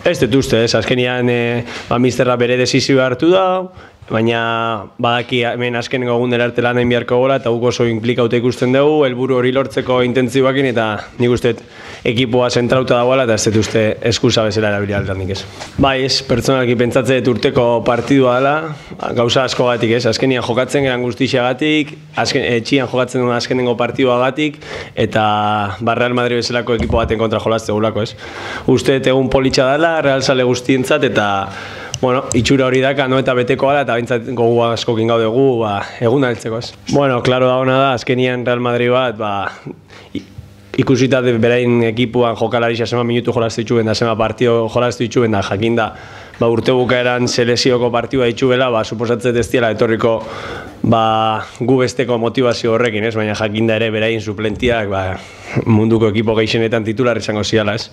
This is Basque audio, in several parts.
Ez dut uste, azkenean misterra bere desizioa hartu da, baina badaki hemen azkenengo egundera arte lan egin beharko gola eta guk oso implikauta ikusten dugu, helburu hori lortzeko intentzioakin eta nik uste ekipoa zentrauta dagoela eta ez dut uste eskusa bezala erabili aldanik ez. Bai ez, pertsonalki pentsatzen dut urteko partidua dela, gauza askogatik ez, azkenean jokatzen geran guztixagatik, etxian jokatzen duen azkenengo partiduagatik eta Real Madrid bezalako ekipo baten kontra jolazte gulako ez. Uste dut egun politxa dela, realzale guztientzat eta bueno, itxura hori daka, no, eta beteko ala, eta bintzat gogu askokin gaude gu, egun altzeko ez. Bueno, klaro dagoena da, azkenian Real Madrid bat, ikusita berain ekipuan jokalarisa zema minutu jolaztu itxuben da, zema partio jolaztu itxuben da, jakinda, urte bukaeran selezioko partidua itxubela, suposatzet ez diela etorriko gu besteko motivazio horrekin, ez? Baina jakinda ere berain suplentiak munduko ekipo gehienetan titular izango ziala, ez?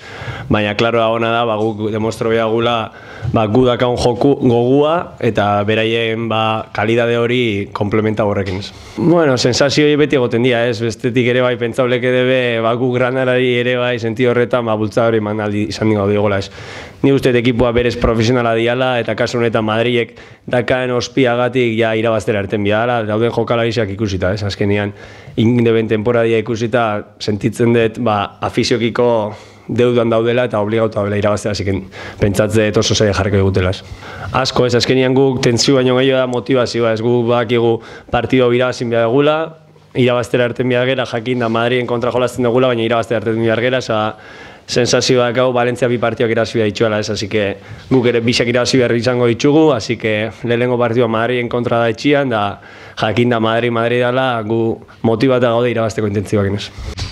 Baina klaro dagoena da, guk demostro behagula gu dakaun gogua eta beraien kalidade hori komplementa horrekin, ez? Bueno, sensazioi beti egoten dira, ez? Bestetik ere bai pentsauleke debe gu granarari ere bai senti horretan bultza hori manaldi izan dingo diogola, ez? Ni uste ekipua berez profesionala diala eta kasu honetan Madrilek dakaen ospiagatik irabaztera erten biala, dauden jokalariak ikusita, ez? Azkenean, indeben temporadia ikusita sentitzen dut afiziokiko deudan daudela eta obligauta daudela irabaztera, ziken pentsatze oso zaila jarriko egutela. Asko ez, azkenean guk tentzio baino gehiago da motivazioa, ez guk bakigu partido irabazin behar egula, irabaztera erten behar gera, jakin da Madriden kontra jolazten dugula, baina irabaztera erten behar gera, sensazioak hau Valentzia bi partioak irabazi behar ditxuela, ez, así que guk ere bisak irabazi behar izango ditugu, así que lehenengo partidua Madriden kontra da etxian, da jakin da Madrid dela, gu motibata gaude irabazteko intentzioak, ez.